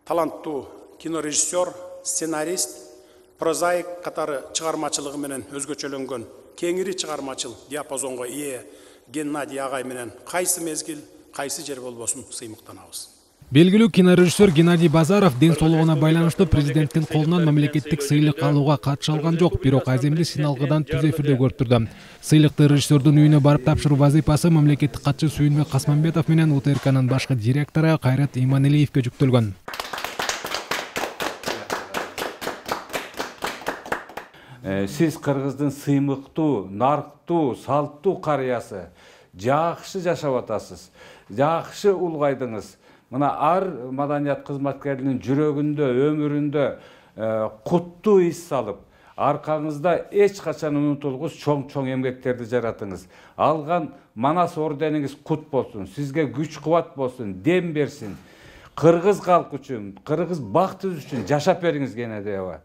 таланттуу кинорежиссер, сценарист, прозаик катары чыгармачылыгы менен өзгөчөлөнгөн кеңири чыгармачыл диапазонго ээ Геннадий агай менен кайсы мезгил, кайсы жер болбосун сыймыктанабыз. Белгилүү кинорежиссер Геннадий Базаров ден соолугуна байланыштуу президенттин колунан мамлекеттик сыйлык алууга катыша алган жок, бирок аземди сыйналгыдан түз эфирде көрүп турду. Сыйлыкты режиссердун үйүнө барып тапшыруу вазыйпасы мамлекеттик катчы Сүйүнбек Касманбетов менен УТРКнын башкы директору Кайрат Иманилиевге жүктөлгөн. Сиз кыргыздын сыймыктуу, нарктуу, салттуу карыясы, жакшы жашап атасыз, жакшы улгайдыңыз. Мына ар маданият кызматкеринин жүрөгүндө, өмүрүндө куттуу ис салып, аркаңызда эч качан унутулгус чоң эмгектерди жаратыңыз. Алган Манас ордениңиз кут болсун, сизге күч кубат болсун, дем берсин. Кыргыз калкы үчүн, кыргыз бактыбыз үчүн жашап бериңиз Геннадий аба.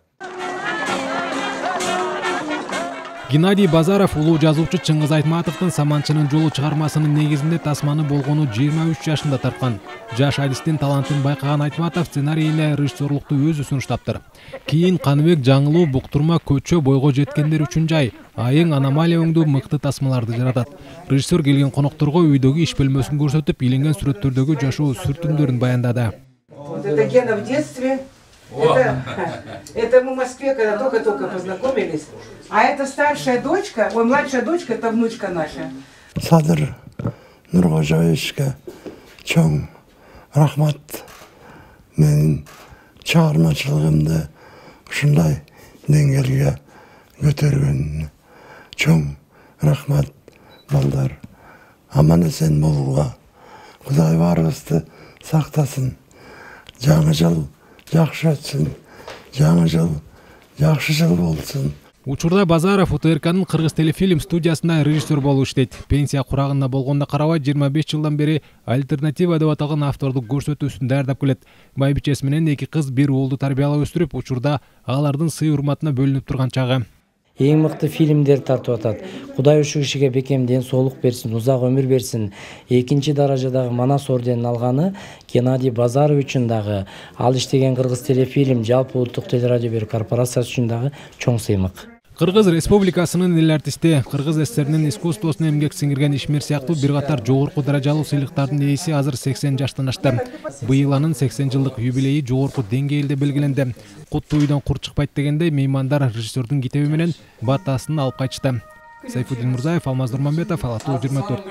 Геннадий Базаров улуу жазуучу Чыңгыз Айтматовдун Саманчынын жолу чыгармасынын негизинде тасманы болгону 23 жашында тарткан. Жаш адистин талантын байкаган Айтматов сценарийине режиссерлукту өзү сунуштаптыр. Кийин Каныбек жаңылуу, буктурма, көчө, бойго жеткендер үчүн жай, айың, аномалия өңдүү мыкты тасмаларды жаратат. Режиссер келген конокторго үйдөгү иш бөлмөсүн көрсөтүп, иленген сүрөттөрдөгү жашоо сүртүмдөрүн баяндады. Это Гена в детстве. Это мы в Москве, когда только-только познакомились. А это старшая дочка, ой, младшая дочка, это внучка наша. Садыр Нургожоевичке чоң рахмат. Менин чыгармачылыгымды ушундай деңгээлге көтөргөн чоң рахмат балдар. Аман эсен болууга Кудай баарыбызды сактасын. Жаңы жыл жакшы өтсүн, жаңы жыл жакшы жыл болсун. Учурда Базаров УТРКнын Кыргыз телефильм студиясында режиссер болуп иштейт. Пенсия курагында болгонуна карабай 25 жылдан бери альтернатива деп аталган автордук көрсөтүүсүн даярдап келет. Байбичеси менен 2 кыз, 1 уулду тарбиялап өстүрүп, учурда алардын сый-урматына бөлүнүп турган чагы. Эң мыкты фильмдер тартып атат. Кудай ушул кишиге бекем ден соолук берсин, узак өмүр берсин. Экинчи даражадагы Манас орденин алганы Геннадий Базаров үчүн дагы, ал иштеген Кыргыз телефильм, жалпы улуттук телерадио берүү корпорациясы үчүн дагы чоң сыймык. Кыргыз Республикасынын эл артисти, Кыргыз СССРнин искусствосуна эмгек сиңирген ишмер сыяктуу бир катар жогорку даражалуу сыйлыктардын ээси азыр 80 жаштан ашты. Быйыл анын 80 жылдык юбилейи жогорку деңгээлде белгиленди. Куттуу үйдөн кур чыкпайт дегенде меймандар режиссердун китеби менен батасын алып кайтышты. Сайфуддин Мурзаев, Алмаз Нурманбетов, Ала Тоо 24.